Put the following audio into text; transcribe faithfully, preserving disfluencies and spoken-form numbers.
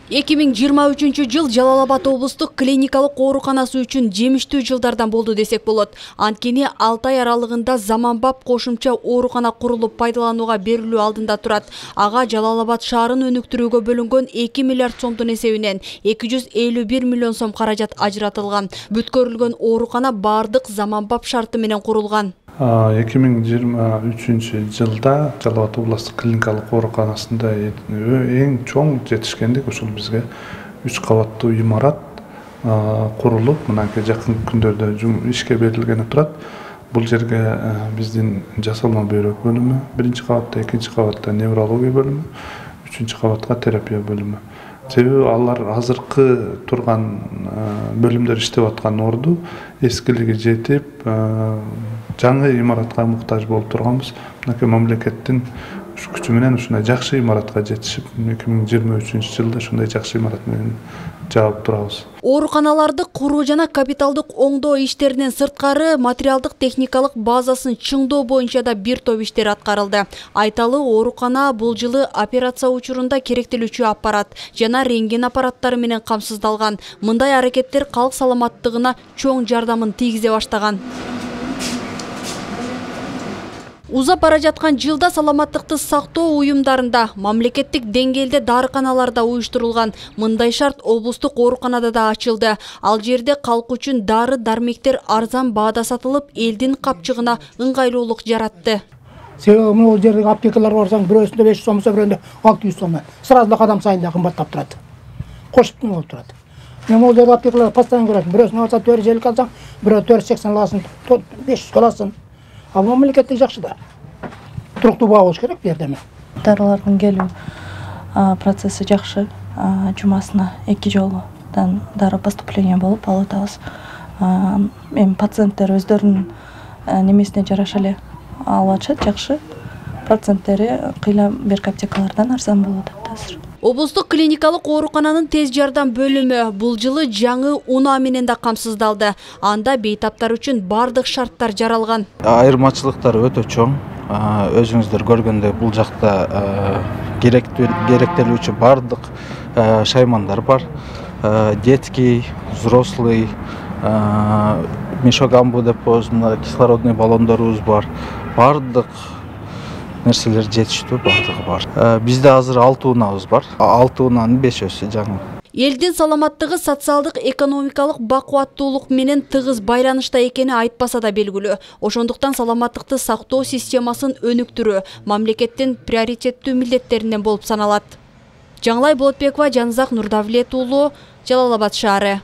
эки миң жыйырма үчүнчү жыл Жалал Абад облустук клиникалык ооруканасы үчүн жемиштүү жылдардан болду десек болот. Анткени алты ай аралыгында заманбап кошумча оорукана курулуп пайдаланууга берилүү алдында турат. Ага Жалал Абад шаарын өнүктүрүүгө бөлүнгөн эки миллиард сомдун эсебинен эки жүз элүү бир миллион сом каражат ажыратылган. Бүткөрүлгөн оорукана бардык заманбап шарты менен курулган. эки миң жыйырма үчүнчү жылда Жалал Абад облустук клиникалык ооруканасында эң чоң жетишкендик ушул бизге үч кабаттуу имарат курулуп, мынакей жакын күндөрдө ишке берилгени турат. Бул жерге биздин жасалма бөйрөк бөлүмү, биринчи кабатта, экинчи кабатта неврология бөлүмү, үчүнчү кабатка терапия бөлүмү. Себеби алар азыркы турган бөлүмдөр иштеп аткан орду эскилиги жетип, жаңы имаратка муктаж болуп турганбыз. Мынакей мамлекеттин күчү менен ушундай жакшы имаратка жетишип, эки миң жыйырма үчүнчү жылда ушундай жакшы имарат менен жаап турабыз. Ооруканаларды куруу жана капиталдык оңдоо иштеринен сырткары материалдык техникалык базасын чыңдоо боюнча да бир топ иштер аткарылды. Айталы, оорукана бул жылы операция учурунда керектелүүчү аппарат жана рентген аппараттары менен камсыздалган. Мындай аракеттер калк саламаттыгына чоң жардамын тийгизе баштаган. Узап бара жаткан жылда саламаттыкты сактоо уюмдарында, мамлекеттик деңгээлде дарыканаларда уюштурулган. Мындай шарт облустук ооруканада да ачылды. Ал жерде калк үчүн дары-дармектер арзан баада сатылып, элдин капчыгына ыңгайлуулук жаратты. Себеби бул жердеги аптекаларга барсаң, бирөөсүндө беш жүз сом, бирөөндө алты жүз сом. Сразу да кадам сайын да кымбаттап турат. Кошуп болуп турат. Мен бул жердеги аптекаларга постоянно көрөм. Бирөөсүнө алсаң төрт жүз элүү алсаң, бирөө төрт жүз сексен аласың, беш жүз аласың. Ал мамлекеттик жакшы да. Туруктуу баа болуш керек бу жерде. Дарылардын келүү процесси жакшы. Жумасына эки жолдан дары поступление болуп алып атабыз. Эми пациенттер өздөрүнүн немесине жараша эле алып атышат, жакшы. Проценттери кыйла берки аптекалардан арзан болуп атат азыр. Облустук клиникалык оорукананын тез жардам бөлүмү бул жылы жаңы унаа менен да камсыздалды. Анда бейтаптар үчүн бардык шарттар жаралган. Айырмачылыктары өтө чоң. Өзүңүздөр көргөндөй бул жакта керектелүүчү бардык шаймандар бар. Детский, взрослый, мешок амбу депосунда кислородный баллондорубуз бар. Бардык нерселер жетиштүү, бардыгы бар. Бизде азыр алты унаабыз бар. алты унаанын бешөөсү жаңы. Элдин саламаттыгы социалдык экономикалык бакубаттуулук менен тыгыз байланышта экени айтпаса да белгилүү. Ошондуктан саламаттыкты сактоо системасын өнүктүрүү мамлекеттин приоритеттүү милдеттеринен болуп саналат. Жаңылай Болотбекова, Жанзак Нурдавлет уулу, Жалал Абад шаары.